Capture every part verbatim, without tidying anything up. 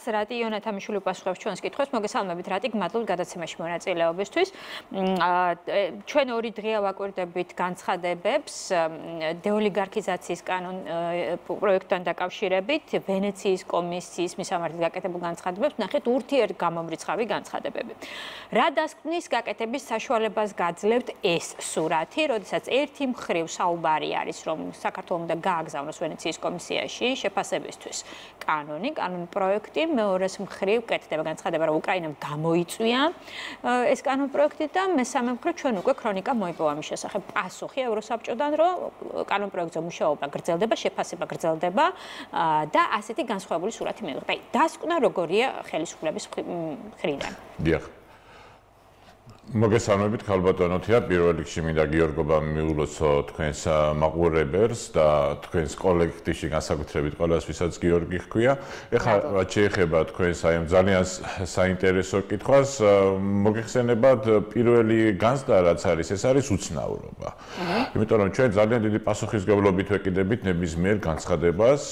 რატი იონათამიშვილი უპასუხებს ჩვენს კითხვებს, მოგესალმებით რატი, გმადლობთ გადაცემაში მონაწილეობისთვის. ჩვენ ორი დღეა ვაკვირდებით განცხადებებს დეოლიგარქიზაციის კანონ პროექტთან დაკავშირებით, ვენეციის კომისიის მისამართით გაკეთებულ განცხადებებს, ნახეთ ურთიერთგამომრიცხავი განცხადებები. რა დასკვნის გაკეთების საშუალებას გაძლევთ ეს სურათი, როდესაც ერთი მხრივ საუბარი არის, რომ საქართველოს უნდა გააგზავნოს ვენეციის კომისიაში შეფასებისთვის კანონი, კანონ პროექტი, მეორეს მხრივ კეთდება განცხადება, რომ უკრაინამ გამოიწვია ეს კანონ პროექტი და მესამე მხრივ ჩვენ უკვე ქრონიკა მოიპოვა ამის შესახებ პასუხი ევროსაბჭოდან, რომ კანონ პროექტზე მუშაობა გრძელდება, შეფასება გრძელდება და ასეთი განსხვავებული სურათი მიიღება. აი, დასკვნა როგორია ხელისუფლების მხრიდან? დიახ. მოგესალმებით, ქალბატონო თია, პირველ რიგში მინდა გიორგობა მიულოცო თქვენს მაყურებელს და თქვენს კოლექტივში განსაკუთრებით ყველას, ვისაც გიორგი ჰქვია. ეხლა რაც შეეხება თქვენს აი ამ ძალიან საინტერესო კითხვას, მოგეხსენებათ პირველი განცდა რაც არის, ეს არის უცნაურობა. იმიტომ რომ ჩვენ ძალიან დიდი პასუხისმგებლობით ვეკიდებით ნებისმიერ განცხადებას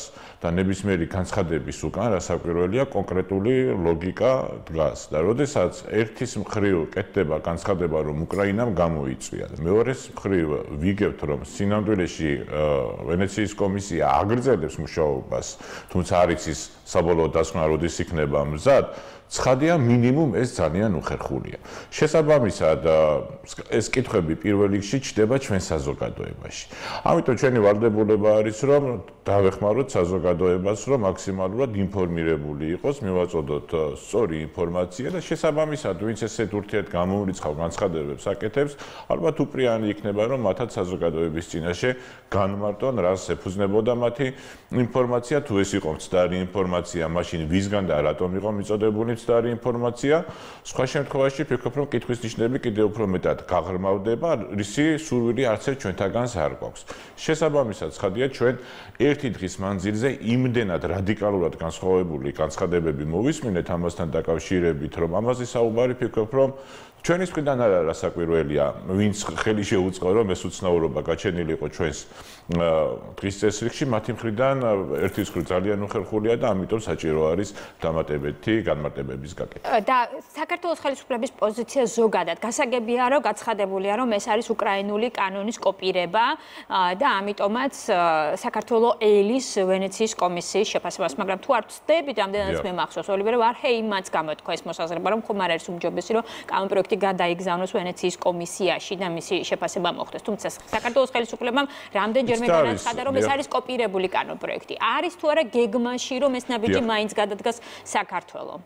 და ნებისმიერი განცხადების უკან რასაკვირველია კონკრეტული ლოგიკა დგას და როდესაც ერთის მხრივ კეთდება განცხადება რომ უკრაინამ გამოიწვია და მეორეს მხრივ ვიგებთ რომ სინამდვილეში ვენეციის კომისია აგრძელებს მუშაობას თუმცა არ იცის საბოლოო დასკვნა როდის იქნება მზად ცხადია მინიმუმ ეს ძალიან უხერხულია. შესაბამისად ეს კითხვები პირველ რიგში ჩდება ჩვენ საზოგადოებაში. ამიტომ ჩვენი ვალდებულება არის რომ დავეხმაროთ საზოგადოებას რომ მაქსიმალურად ინფორმირებული იყოს, მივაწოდოთ სწორი ინფორმაცია და შესაბამისად ვინც ესეთ ურთიერთგამომრიცხავ განცხადებებს აკეთებს, ალბათ უპრიანი იქნება რომ მათაც საზოგადოების წინაშე განმარტონ რას ეფუძნებოდა მათი ინფორმაცია, თუ ეს იყო მცდარი ინფორმაცია, მაშინ ვისგან და რატომ იყო მიწოდებული მცდარი ინფორმაცია. სხვა შემთხვევაში ვფიქრობ რომ კითხვის ნიშნები კიდევ უფრო მეტად გაღრმავდება, რისი სურვილი არც ერთ ჩვენთაგანს არ გვაქვს. შესაბამისად, ცხადია ჩვენ ერთი დღის მანძილზე იმდენად რადიკალურად განსხვავებული განცხადებები მოვისმინეთ ამასთან დაკავშირებით, რომ ამაზე საუბარი ვფიქრობ რომ ჩვენი მხრიდან არ არის რასაკვირველია, ვინც ხელი შეუწყო რომ ეს უცნაურობა გაჩენილიყო ჩვენს დღის წესრიგში, მათი მხრიდან ერთის მხრივ ძალიან უხერხულია და ამიტომ საჭირო არის დამატებითი განმარტებების გაკეთება. და საქართველოს ხელისუფლების პოზიცია ზოგადად გასაგებია, რომ გაცხადებულია, რომ ეს არის უკრაინული კანონის კოპირება და ამიტომაც საქართველოს ელის ვენეციის კომისიის შეფასებას, მაგრამ თუ არ ვცდებით, ამდენადაც მე მახსოვს, ოლივერ ვარჰეიმაც გამოთქვა ეს მოსაზრება, რომ ხომ არ არის უმჯობესი, რომ კანონ პროექტი გადაიგზავნოს ვენეციის კომისიაში და მისი შეფასება მოხდეს. თუმცა საქართველოს ხელისუფლებამ რამდენჯერმე განაცხადა, რომ ეს არის კოპირებული კანონ პროექტი. არის თუ არა გეგმაში, რომ ეს ნაბიჯი მაინც გადადგას საქართველოს?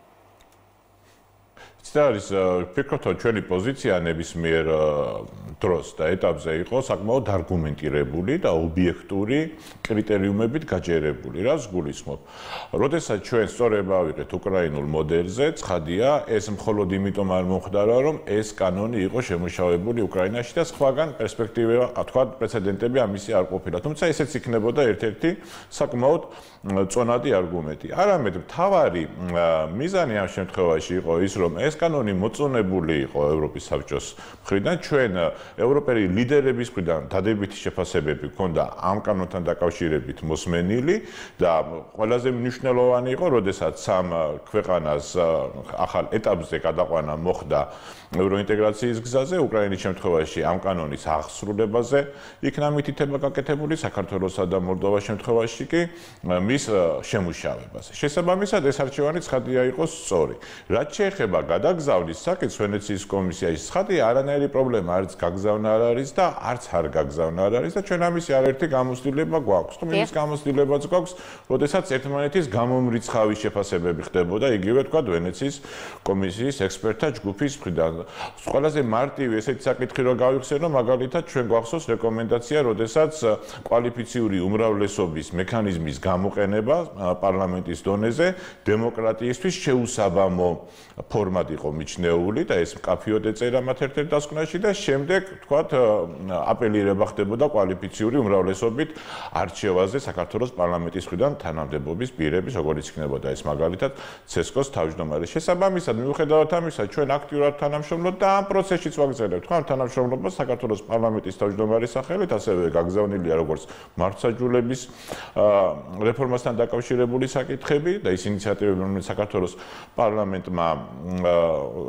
ეს არის ვფიქრობ, ჩვენი პოზიცია ნებისმიერ დროს და ეტაპზე იყო საკმაოდ არგუმენტირებული და ობიექტური კრიტერიუმებით გაჯერებული. რას გულისხმობ? როდესაც ჩვენ სწორება ავიღეთ უკრაინულ მოდელზე, ცხადია, ეს მხოლოდ იმიტომ არ მომხდარა, რომ ეს კანონი იყო შემუშავებული უკრაინაში და სხვაგან პერსპექტივა, თქვა, პრეცედენტები ამისი არ ყოფილა. თუმცა ესეც იქნებოდა ერთ-ერთი საკმაოდ წონადი არგუმენტი. არამედ მთავარი მიზანი ამ შემთხვევაში იყო ის, რომ ეს კანონი მოწონებული იყო ევროპის საბჭოს მხრიდან, ჩვენ ევროპელი ლიდერების მხრიდან დადებითი შეფასებები ჰქონდა ამ კანონთან დაკავშირებით მოსმენილი და ყველაზე მნიშვნელოვანი იყო, როდესაც სამ ქვეყანას ახალ ეტაპზე გადაყვანა მოხდა ევროინტეგრაციის გზაზე, უკრაინის შემთხვევაში ამ კანონის აღსრულებაზე იქნა მითითება გაკეთებული, საქართველოსა და მოლდოვას შემთხვევაში კი მის შემუშავებას. შესაბამისად ეს არჩევანი ცხადია იყო სწორი. რაც შეეხება გადაგზავნის საკითხს ვენეციის კომისიაში, ცხადია არანაირი პრობლემა არც გაგზავნა არ არის და არც არ გაგზავნა არ არის და ჩვენ ამის არაერთი გამოცდილება გვაქვს. თუმცა ის გამოცდილებაც გვაქვს, როდესაც ერთმანეთის გამომრიცხავი შეფასებები ხდებოდა იგივე თქვა ვენეციის კომისიის ექსპერტთა ჯგუფის მხრიდან. ყველაზე მარტივი ესეთი საკითხი რო გავიხსენო, მაგალითად ჩვენ გვახსოვს რეკომენდაცია, როდესაც კვალიფიციური უმრავლესობის მექანიზმის გამოყენება პარლამენტის დონეზე დემოკრატიისთვის შეუსაბამო ფორმად იყო მიჩნეული და ეს მკაფიოდ ეწერა მათ ერთ-ერთ დასკვნაში და შემდეგ თქვათ, აპელირება ხდებოდა კვალიფიციური უმრავლესობით არჩევაზე საქართველოს პარლამენტის მხრიდან თანამდებობის პირების, როგორც იქნებოდა ეს მაგალითად ცესკოს თავმჯდომარე. შესაბამისად, მიუხედავად ამისა, ჩვენ აქტიურად თანამშრომლობთ და ამ პროცესშიც ვაგრძელებთ. ხო, თანამშრომლობა საქართველოს პარლამენტის თავმჯდომარის სახელით ასევე გაგზავნილია როგორც მართლმსაჯულების რეფორმასთან დაკავშირებული საკითხები და ის ინიციატივები, რომელიც საქართველოს პარლამენტმა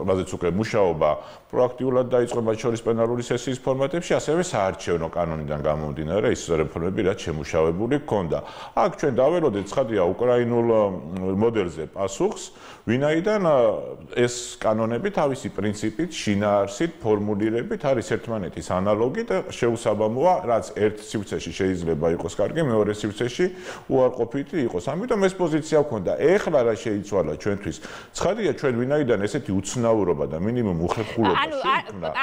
რაზეც უკვე მუშაობა პროაქტიულად დაიწყო მათ შორის პენალური სესიის ფორმატებში, ასევე საარჩევნო კანონიდან გამომდინარე ის რეფორმები, რაც შემუშავებული ჰქონდა. აქ ჩვენ დაველოდეთ ცხადია უკრაინულ მოდელზე პასუხს, ვინაიდან ეს კანონები თავისი პრინციპით, შინაარსით, ფორმულირებით არის ერთმანეთის ანალოგი და შეუსაბამოა, რაც ერთ სივრცეში შეიძლება იყოს კარგი, მეორე სივრცეში უარყოფითი იყოს. ამიტომ ეს პოზიცია ჰქონდა. ეხლა რა შეიცვალა ჩვენთვის? ცხადია, ჩვენ ვინაიდან ესეთი უცნაურობა და მინიმუმ უხერხულობა ანუ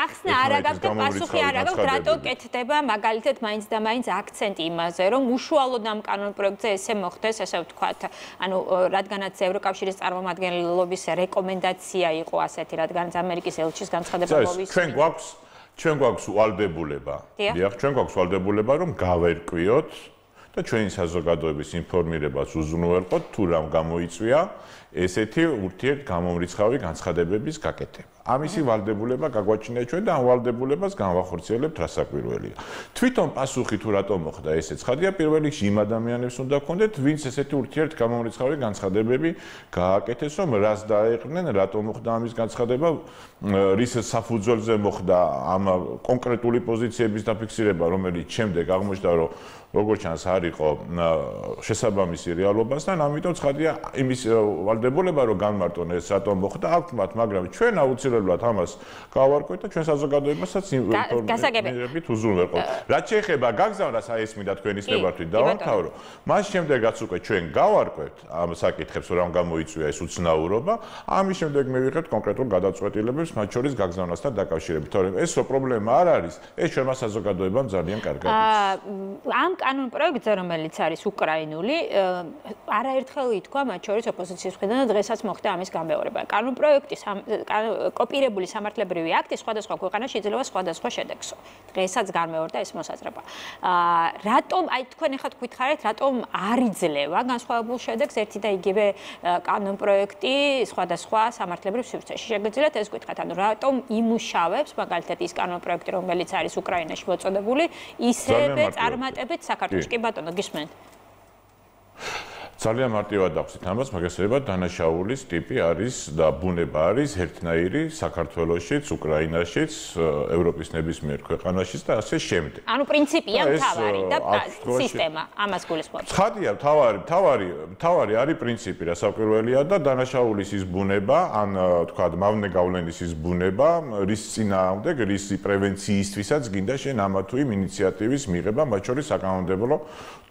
ახსნა არ აგავთ და პასუხი არ აგავთ, რატო კეთდება მაგალითად მაინც და მაინც აქცენტი იმაზე, რომ უშუალოდ ამ კანონპროექტზე ესე მოხდეს, ესე ვთქვათ, ანუ რადგანაც ევროკავშირის წარმომადგენლობის რეკომენდაცია იყო ასეთი, რადგანაც ამერიკის ელჩის განცხადება მოვისმინე. ჩვენ გვაქვს ჩვენ გვაქვს ვალდებულება. დიახ, ჩვენ გვაქვს ვალდებულება, რომ გავერკვიოთ და ჩვენი საზოგადოების ინფორმირებას უზრუნველყოთ, თუ რამ გამოიწვია ესეთი ურთიერთგამომრიცხავი განცხადებების გაკეთება. ამისი ვალდებულება გაგვაჩნია ჩვენ და ამ ვალდებულებას განვახორციელებთ რასაკვირველია. თვითონ პასუხი თუ რატომ მოხდა ესე ცხადია, პირველ რიგში იმ ადამიანებს უნდა გქონდეთ, ვინც ესეთი ურთიერთგამომრიცხავი განცხადებები გააკეთეს, რომ რას დაეყრნენ, რატომ მოხდა ამის განცხადება, რის საფუძველზე მოხდა ამ კონკრეტული პოზიციების დაფიქსირება, რომელიც შემდეგ აღმოჩნდა, რომ როგორც ჩანს არ იყო შესაბამისი რეალობასთან, ამიტომ ცხადია იმის ვალდებულება, რომ განმარტონ ეს რატომ მოხდა, აქვთ მათ, მაგრამ ჩვენ აუცილებლად ამას გავარკვევთ და ჩვენ საზოგადოებასაც ინფორმირებით უზრუნველყოთ. რაც შეეხება გაგზავნას, აი ეს მინდა თქვენის ნებართვით დავამთავრო. მას შემდეგაც უკვე ჩვენ გავარკვევთ ამ საკითხებს, რომ გამოიწვია ეს უცნაურობა, ამის შემდეგ მივიღებთ კონკრეტულ გადაწყვეტილებებს, მათ შორის გაგზავნასთან დაკავშირებით. თორემ ეს პრობლემა არ არის, ეს ჩვენმა საზოგადოებამ ძალიან კარგად იცის. ამ კანონპროექტზე, რომელიც არის უკრაინული, არაერთხელ ითქვა მათ შორის ოპოზიციის მხრიდან და დღესაც მოხდა ამის გამეორება. კანონპროექტის კოპირებული სამართლებრივი აქტი სხვადასხვა ქვეყანაში იძლევა სხვადასხვა შედეგს. დღესაც გამეორდა ეს მოსაზრება. რატომ, აი თქვენ ახლა გითხარით, რატომ არ იძლევა განსხვავებულ შედეგს ერთი და იგივე კანონპროექტი სხვადასხვა სამართლებრივ სივრცეში? შეგიძლიათ ეს გითხრათ, ანუ რატომ იმუშავებს მაგალითად ის კანონპროექტი, რომელიც არის უკრაინაში მოწოდებული, ისევე წარმატებით საქართველოში? კი ბატონო, გისმენთ. ძალიან მარტივად ახსით ამას, მაგასრებად დანაშაულის ტიპი არის და ბუნება არის ერთნაირი საქართველოშიც, უკრაინაშიც, ევროპის ნებისმიერ ქვეყანაშიც და ასე შემდეგ. ანუ პრინციპია მთავარი და სისტემა ამას გულისხმობს. ცხადია, მთავარი, მთავარი, მთავარი არის პრინციპი, რასაკვირველია და დანაშაულის ის ბუნება, ან თქვა მავნე გავლენის ის ბუნება, რის წინააღმდეგ, რის პრევენციისთვისაც გინდა შენ ამა თუ იმ ინიციატივის მიღება, მათ შორის საკანონმდებლო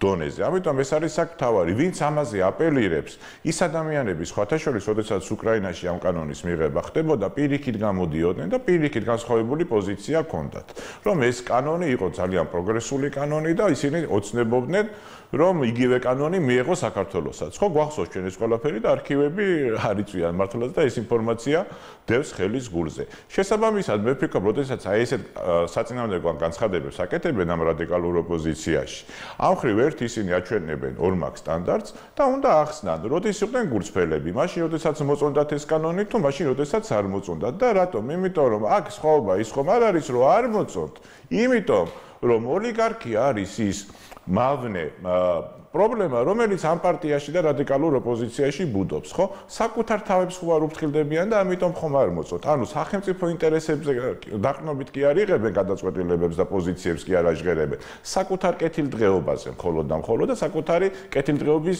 დონეზე. ამიტომ ეს არის საკთავარი, ვინც ამაზე აპელირებს, ის ადამიანები სხვათა შორის, როდესაც უკრაინაში ამ კანონის მიღება ხდებოდა, პირიქით გამოდიოდნენ და პირიქით განსხვავებული პოზიცია ჰქონდათ, რომ ეს კანონი იყო ძალიან პროგრესული კანონი და ისინი ოცნებობდნენ, რომ იგივე კანონი მიეღო საქართველოსაც. ხო, გვახსოვს ჩვენ ეს ყველაფერი და არქივები არ იწვიან მართლაც და ეს ინფორმაცია დევს ხელის გულზე. შესაბამისად, მე ვფიქრობ, როდესაც აი ესეთ საწინააღმდეგო განცხადებებს აკეთებენ ამ რადიკალურ ოპოზიციაში, ამ მხრივ ერთ ისინი აჩვენებენ ორმაგ სტანდარტს და უნდა ახსნან, როდის იყვნენ გულწრფელები, მაშინ როდესაც მოწონდათ ეს კანონი თუ მაშინ როდესაც არ მოწონდათ და რატომ? იმიტომ რომ აქ სხვაობა ის ხომ არ არის, რომ არ მოწონთ, იმიტომ რომ ოლიგარქია არის ის მავნე პრობლემა, რომელიც ამ პარტიაში და რადიკალურ ოპოზიციაში ბუდობს, ხო? საკუთარ თავებს ხო არ უფრთხილდებიან და ამიტომ ხომ არ მოწონთ. ანუ სახელმწიფო ინტერესებზე დაყრდნობით კი არ იღებენ გადაწყვეტილებებს და პოზიციებს კი არ აჟღერებენ. საკუთარ კეთილდღეობაზე მხოლოდ და მხოლოდ და საკუთარი კეთილდღეობის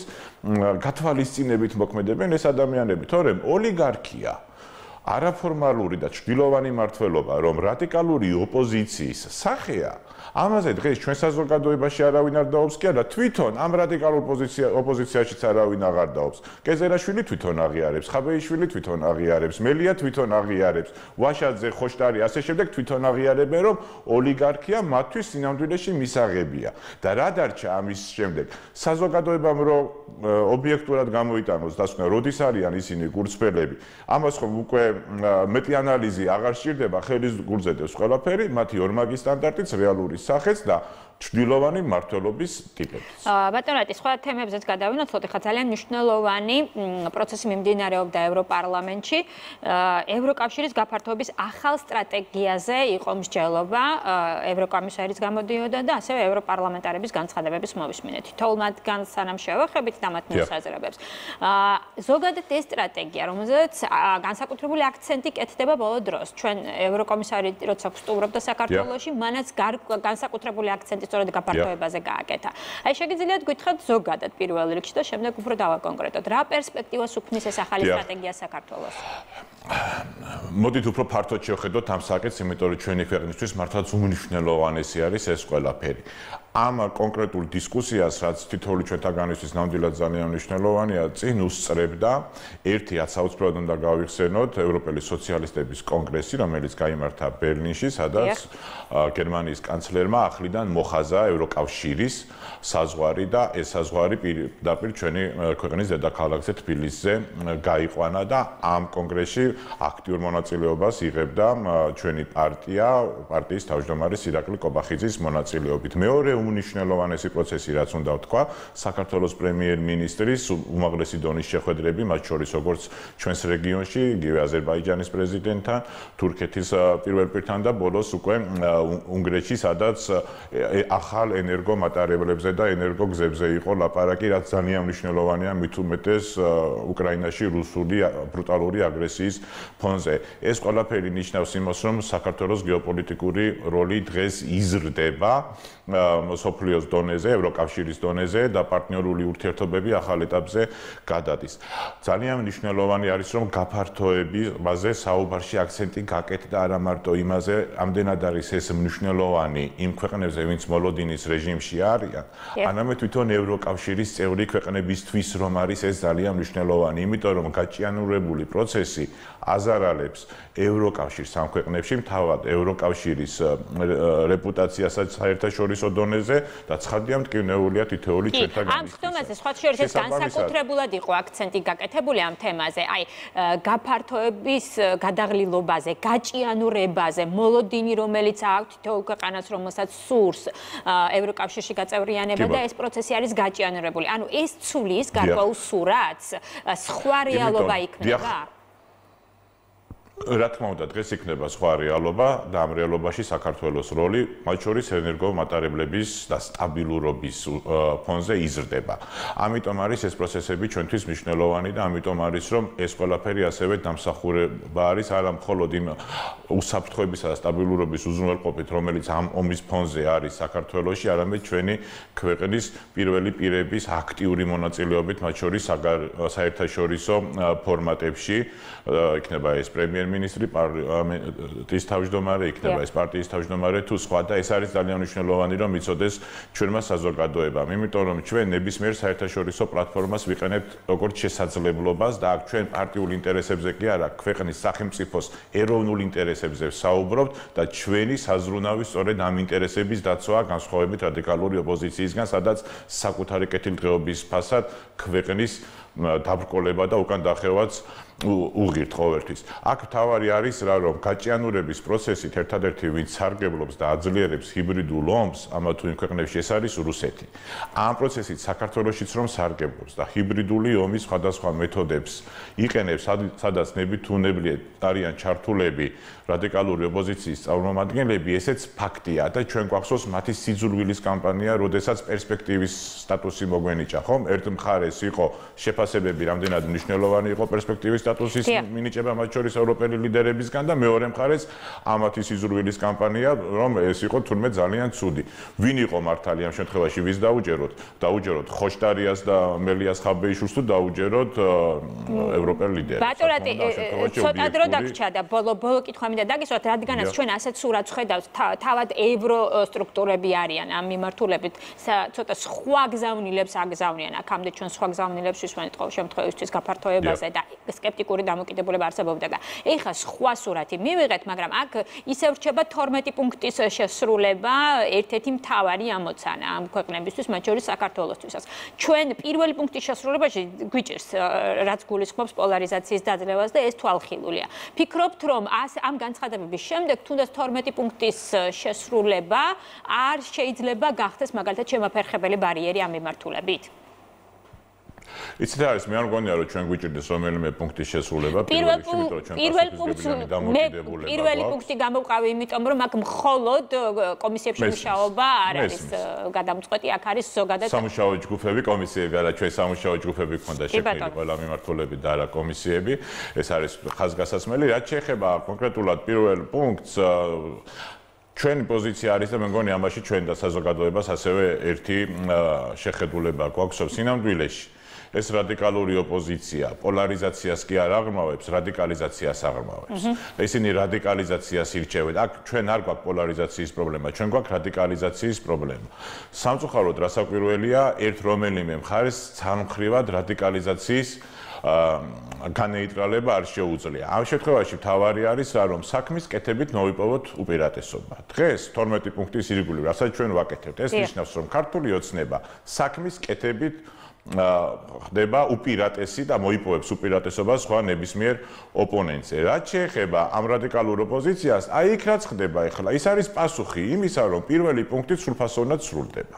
გათვალისწინებით მოქმედებენ ეს ადამიანები, თორემ ოლიგარქია არაფორმალური და ჩრდილოვანი მმართველობა, რომ რადიკალური ოპოზიციის სახეა, ამაზე დღეს ჩვენ საზოგადოებაში არავინ არ დაობს კი არა, თვითონ ამ რადიკალურ პოზიცია ოპოზიციაშიც არავინ აღარ დაობს. კეზერაშვილი თვითონ აღიარებს, ხაბეიშვილი თვითონ აღიარებს, მელია თვითონ აღიარებს, ვაშაძე, ხოშტარი, ასე შემდეგ თვითონ აღიარებენ, რომ ოლიგარქია მათთვის სინამდვილეში მისაღებია. და რა დარჩა ამის შემდეგ? საზოგადოებამ რომ ობიექტურად გამოიტანოს დასკვნა, როდის არიან ისინი გულწრფელები. ამას ხომ უკვე მეტი ანალიზი აღარ სჭირდება, ხელის გულზედებს ყველაფერი, მათი ორმაგი სტანდარტიც, რეალური სახეც და ჩრდილოვანი მმართველობის ტიპებიც. ბატონო რატი, სხვა თემებზეც გადავინაცვლოთ, ხა ძალიან მნიშვნელოვანი პროცესი მიმდინარეობდა ევროპარლამენტში. ევროკავშირის გაფართოების ახალ სტრატეგიაზე იყო მსჯელობა, ევროკომისარის გამოდიოდა და ასევე ევროპარლამენტარების განცხადებების მოვისმინეთ. თითოეულ მათგანს სანამ შევახებით და მათ მოსაზრებებს. ზოგადად ეს სტრატეგია, რომელზეც განსაკუთრებული აქცენტი კეთდება ბოლო დროს. ჩვენ ევროკომისარი როცა ვსტუმრობდა საქართველოში, მანაც განსაკუთრებული აქცენტი სწორედ გაფართოებაზე გააკეთა. აი შეგიძლიათ გითხრათ ზოგადად პირველ რიგში და შემდეგ უფრო დავაკონკრეტოთ. რა პერსპექტივას უქმნის ეს ახალი სტრატეგია საქართველოს? მოდით უფრო ფართოდ შევხედოთ ამ საკითხს, იმიტომ რომ ჩვენი ქვეყნისთვის მართლაც უმნიშვნელოვანესი არის ეს ყველაფერი. ამ კონკრეტულ დისკუსიას, რაც თითოეული ჩვენთაგანისთვის ნამდვილად ძალიან მნიშვნელოვანია, წინ უსწრებდა ერთი აცაუცბრად უნდა გავიხსენოთ ევროპელი სოციალისტების კონგრესი, რომელიც გაიმართა ბერლინში, სადაც გერმანიის კანცლერმა ახლიდან მოხაზა ევროკავშირის საზღვარი და ეს საზღვარი პირდაპირ ჩვენი ქვეყნის დედაქალაქზე თბილისზე გაიყვანა და ამ კონგრესში აქტიურ მონაწილეობას იღებდა ჩვენი პარტია, პარტიის თავმჯდომარე ირაკლი კობახიძის მონაწილეობით. მეორე უმნიშვნელოვანესი პროცესი, რაც უნდა ვთქვა, საქართველოს პრემიერ-მინისტრის უმაღლესი დონის შეხვედრები, მათ შორის როგორც ჩვენს რეგიონში, იგივე აზერბაიჯანის პრეზიდენტთან, თურქეთის პირველ პირთან და ბოლოს უკვე უნგრეთში, სადაც ახალ ენერგომატარებლებზე და ენერგოგზებზე იყო ლაპარაკი, რაც ძალიან მნიშვნელოვანია მით უმეტეს უკრაინაში რუსული ბრუტალური აგრესიის ფონზე. ეს ყველაფერი ნიშნავს იმას, რომ საქართველოს გეოპოლიტიკური როლი დღეს იზრდება სოფლიოს დონეზე, ევროკავშირის დონეზე და პარტნიორული ურთიერთობები ახალ ეტაპზე გადადის. ძალიან მნიშვნელოვანი არის, რომ გაფართოებაზე საუბარში აქცენტი გაკეთდა არა მარტო იმაზე, ამდენად არის ეს მნიშვნელოვანი იმ ქვეყნებზე, ვინც მოლოდინის რეჟიმში არიან, არამედ თვითონ ევროკავშირის წევრი ქვეყნებისთვის რომ არის ეს ძალიან მნიშვნელოვანი, იმიტომ რომ გაჭიანურებული პროცესი აზარალებს ევროკავშირს ამ ქვეყნებში, თავად ევროკავშირის რეპუტაციასაც საერთაშორისო დონეზე და ცხადია მტკივნეულია თითოეული ჩვენთაგან. ამ ხდომაზე სხვა შორის ეს განსაკუთრებულად იყო აქცენტი გაკეთებული ამ თემაზე, აი გაფართოების გადაღლილობაზე, გაჭიანურებაზე, მოლოდინი რომელიც აქვს თითოეულ ქვეყანას, რომელსაც სურს ევროკავშირში გაწევრიანება და ეს პროცესი არის გაჭიანურებული. ანუ ეს ცulis გარკვეულ სურათს სხვა რეალობა იქნება? რა თქმა უნდა, დღეს იქნება სხვა რეალობა და ამ რეალობაში საქართველოს როლი, მათ შორის ენერგომატარებლების და სტაბილურობის ფონზე იზრდება. ამიტომ არის ეს პროცესები ჩვენთვის მნიშვნელოვანი და ამიტომ არის, რომ ეს ყველაფერი ასევე დამსახურება არის არა მხოლოდ იმ უსაფრთხოებისა და სტაბილურობის უზრუნველყოფით, რომელიც ამ ომის ფონზე არის საქართველოში, არამედ ჩვენი ქვეყნის პირველი პირების აქტიური მონაწილეობით, მათ შორის საერთაშორისო ფორმატებში, იქნება ეს პრემიერ მინისტრი, პარტიის თავმჯდომარე, იქნება ეს პარტიის თავმჯდომარე თუ სხვა და ეს არის ძალიან მნიშვნელოვანი, რომ იცოდეს ჩვენმა საზოგადოებამ, იმიტომ რომ ჩვენ ნებისმიერ საერთაშორისო პლატფორმას ვიყენებთ როგორც შესაძლებლობას და აქ ჩვენ პარტიულ ინტერესებზე კი არა, ქვეყნის სახელმწიფოს ეროვნულ ინტერესებზე ვსაუბრობთ და ჩვენი საზრუნავი სწორედ ამ ინტერესების დაცვაა განსხვავებით რადიკალური ოპოზიციისგან, სადაც საკუთარი კეთილდღეობის ფასად ქვეყნის დაბრკოლება და უკან დახევაც უღირთ ყოველთვის. აქ თავარი არის რა, რომ გაჭიანურების პროცესით ერთადერთი ვინც სარგებლობს და აძლიერებს ჰიბრიდულ ომს, ამა თუ იმ ქვეყნებში ეს არის რუსეთი. ამ პროცესით საქართველოშიც რომ სარგებლობს და ჰიბრიდული ომის სხვადასხვა მეთოდებს იყენებს, სადაც ნებითუნებლიეთ არიან ჩართულები რადიკალური ოპოზიციის წარმომადგენლები, ესეც ფაქტია და ჩვენ გვახსოვს მათი სიძულვილის კამპანია, როდესაც პერსპექტივის სტატუსი მოგვენიჭა, ხომ? ერთ მხარეს იყო შეფასება შეფასებები რამდენად მნიშვნელოვანი იყო პერსპექტივის სტატუსის მინიჭება მათ შორის ევროპელი ლიდერებისგან და მეორე მხარეს ამათი სიზრუვილის კამპანია, რომ ეს იყო თურმე ძალიან ცუდი. ვინ იყო მართალი ამ შემთხვევაში, ვის დაუჯეროთ? დაუჯეროთ ხოშტარიას და მელიას ხაბეიშვილს თუ დაუჯეროთ ევროპელ ლიდერებს? ბატონატი ცოტა დრო დაგრჩა და ბოლო ბოლო კითხვა მინდა დაგისვათ, რადგანაც ჩვენ ასეთ სურათს ხედავთ, თავად ევრო სტრუქტურები არიან ამ მიმართულებით, ცოტა სხვა გზავნილებს აგზავნიან აქამდე ჩვენ სხვა გზავნილებს ვისვენეთ ყოველ შემთხვევისთვის გაფართოებაზე და სკეპტიკური დამოკიდებულება არსებობდა და ეხლა სხვა სურათი მივიღეთ, მაგრამ აქ ისევ რჩება თორმეტი პუნქტის შესრულება, ერთ-ერთი მთავარი ამოცანა ამ ქვეყნებისთვის, მათ შორის საქართველოსთვისაც. ჩვენ პირველი პუნქტის შესრულებაში გვიჭირს, რაც გულისხმობს პოლარიზაციის დაძლევას და ეს თვალხილულია. ფიქრობთ, რომ ამ განცხადებების შემდეგ თუნდაც თორმეტი პუნქტის შესრულება არ შეიძლება გახდეს მაგალითად შემაფერხებელი ბარიერი ამ მიმართულებით? იცით რა არის, მე არ მგონია რომ ჩვენ გვიჭირდეს რომელიმე პუნქტის შესრულება პირველ რიგში, იმიტომ რომ ჩვენ პირველი დამოკიდებულება პირველი პუნქტი გამოვყავი, იმიტომ რომ აქ მხოლოდ კომისიებში მუშაობა არ არის გადამწყვეტი, აქ არის ზოგადად სამუშაო ჯგუფები, კომისიები, არა ჩვენ სამუშაო ჯგუფები გქონდა შექმნილი ყველა მიმართულებით და არა კომისიები, ეს არის ხაზგასაცმელი. რაც შეეხება კონკრეტულად პირველ პუნქტს, ჩვენი პოზიცია არის და მე მგონი ამაში ჩვენ და საზოგადოებას ასევე ერთი შეხედულება გვაქვს სინამდვილეში. ეს რადიკალური ოპოზიცია პოლარიზაციას კი არ აღრმავებს, რადიკალიზაციას აღრმავებს. ისინი რადიკალიზაციას ირჩევენ. აქ ჩვენ არ გვაქვს პოლარიზაციის პრობლემა, ჩვენ გვაქვს რადიკალიზაციის პრობლემა. სამწუხაროდ რასაკვირველია, ერთ რომელიმე მხარეს ცალმხრივად რადიკალიზაციის განეიტრალება არ შეუძლია. ამ შემთხვევაში მთავარი არის რა, რომ საქმის კეთებით მოვიპოვოთ უპირატესობა. დღეს თორმეტი პუნქტის ირგვლივ, რასაც ჩვენ ვაკეთებთ, ეს ნიშნავს, რომ ქართული ოცნება საქმის კეთებით ხდება უპირატესი და მოიპოვებს უპირატესობას სხვა ნებისმიერ ოპონენტზე. რაც შეეხება ამ რადიკალურ ოპოზიციას, აი იქ რაც ხდება ახლა, ის არის პასუხი იმისა, რომ პირველი პუნქტი სრულფასოვნად სრულდება.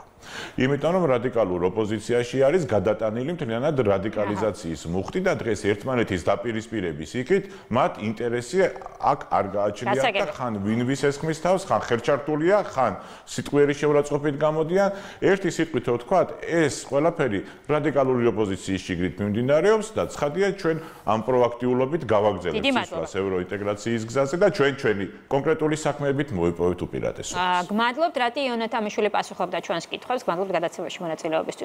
იმიტომ რომ რადიკალურ ოპოზიციაში არის გადატანილი მთლიანად რადიკალიზაციის მუხტი და დღეს ერთმანეთის დაპირისპირების იქით მათ ინტერესი აქ არ გააჩნიათ და ხან ვინვის ესხმის თავს, ხან ხელჩართულია, ხან სიტყვიერი შეურაცხყოფით გამოდიან. ერთი სიტყვით რო ვთქვათ, ეს ყველაფერი რადიკალური ოპოზიციის შიგნით მიმდინარეობს და ცხადია ჩვენ ამ პროაქტიულობით გავაგზავნებთ სისხლს ევროინტეგრაციის გზაზე და ჩვენ ჩვენი კონკრეტული საქმეებით მოვიპოვეთ უპირატესობას. გმადლობთ, რატი იონათ ამიშვილი პასუხობდა ჩვენს კითხვებს, გმადლობთ გადაცემაში მონაწილეობისთვის.